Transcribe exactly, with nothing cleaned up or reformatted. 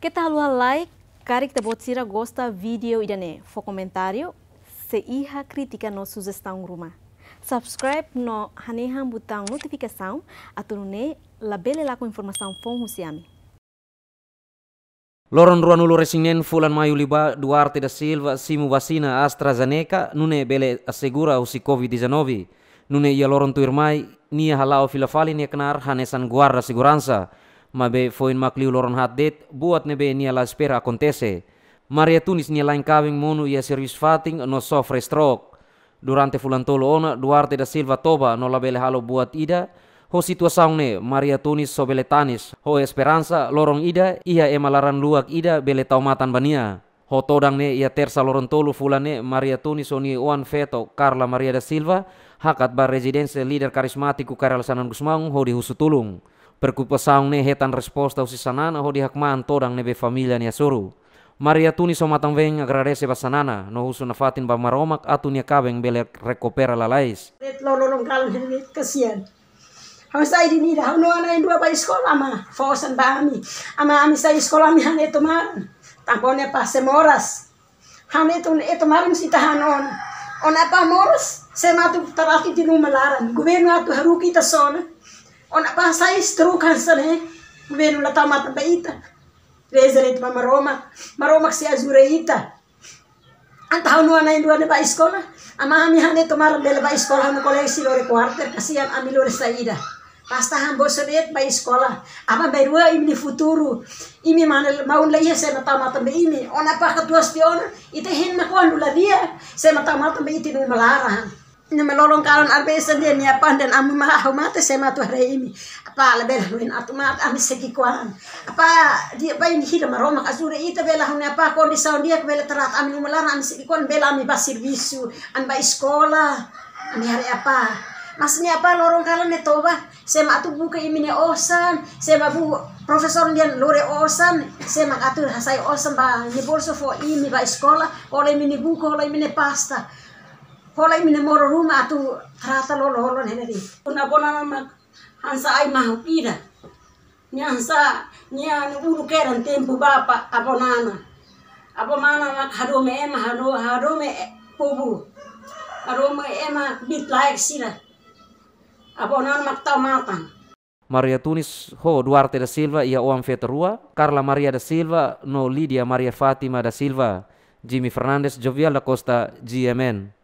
Keta haluha like, karik ita-boot sira gosta vídeo ida-ne'e, fó komentáriu, se iha krítika no sujestaun ruma. Subscribe no hanehan butaun notifikasaun, atu nune'e labele lakon informasaun foun husi ami. Loron ruanulu-resin-neen fulan Maiu liubá, Duarte da Silva simu vasina AstraZeneca, nune'e bele asegura husi covid dezanove. Nune'e iha loron tuirmai, nia hala'o fila fali nia knaar hanesan guarda seguransa. Maibé foin mak liu loron haat de'it, buat ne'ebé nia la espera akontese. Maria Tunis nia la'en kaben monu iha servisu fatin no sofre stroke. Durante fulan tolu ona, Duarte da Silva toba no labele halo buat ida. Ho situasaun ne'e, Maria Tunis só bele tanis, ho esperansa, loron ida, iha ema laran-luak ida bele tau matan ba nia. Ho todan ne'e, iha Tersa loron tolu fulan ne'e, Maria Tunis ho nia oan-feto, Carla Maria da Silva, hakat ba rezidénsia líder karizmátiku Kay Rala Xanana Gusmão hodi husu tulun. Preokupasaun ne'e hetan resposta husi Xanana hodi hakmaan todan ne'ebé família nia hasoru. Maria Tunis ho matan-been agradese ba Xanana, no husu nafatin ba Maromak atu nia kaben bele rekupera lalais. De'it loron kalan hene kasian. Ha'u sai duni ida, ha'u-nia oan na'in-rua bá eskola, ama fó osan ba ami. Ama, ami sai eskola, ami han etu maran. Tanba ó-nia apá sei moras. Han etu, etu maran sei ita han ona. Ó-nia apá moras, sé mak atu trata ita iha uma laran. Governu atu haruka ita sona. Ó-nia apá sai stroke hanesan ne'e. Governu la tau matan ba ita. Reza de'it ba Maromak. Maromak sei ajuda ita. Entaun ha'u-nia oan na'in-rua ne'e bá eskola. Ama, ami han etu maran bele bá eskola, ha'u-nia kolega sei lori kuarter, kasian ami lori saida. Basta han bolsa de'it bá eskola. Aban-bainrua imi-nia futuru. Imi mane maun la iha, sé mak tau matan ba imi. Ó-nia apá katuas tiha ona, ita hein mak kuandu la di'ak, sé mak tau matan ba ita iha uma laran. Ne'e mak loron kalan arbesa dehan nia apá dehan ami mak ha'u mate, sé mak atu haree imi. Apá, labele hanoin atu mate, ami sei ki'ikoan. Apá, di'ak ba imi, hira Maromak ajuda ita bele ha'u-nia apá kondisaun di'ak bele trata ami iha uma laran, ami sei ki'ikoan, bele ami bá servisu, ami bá eskola, ami haree apá. Mas nia apá loron kalan ne'e toba, sé mak atu buka imi-nia osan, sé mak bu-, profesór nian lori osan, sé mak atu hasai osan ba imi-nia bolsa fó imi bá eskola, hola imi-nia buku, hola imi-nia pasta. Hola imi-nia moru ruma atu trata lolo-lolo ne'e de'it. Avó Nana mak hanesan ai-mahuk ida. Nia hanesan, nia uluk kedan tempu bapa, Avó Nana. Avó Nana mak hadomi ema, hado-, hadomi e-, povu. Hadomi ema biit-laek sira. Avó Nana mak tau matan. Maria Tunis ho Duarte da Silva iha oan-feto rua, Carla Maria da Silva no Lídia Maria Fátima da Silva. Jimmy Fernandes, Jovial da Costa, G M N.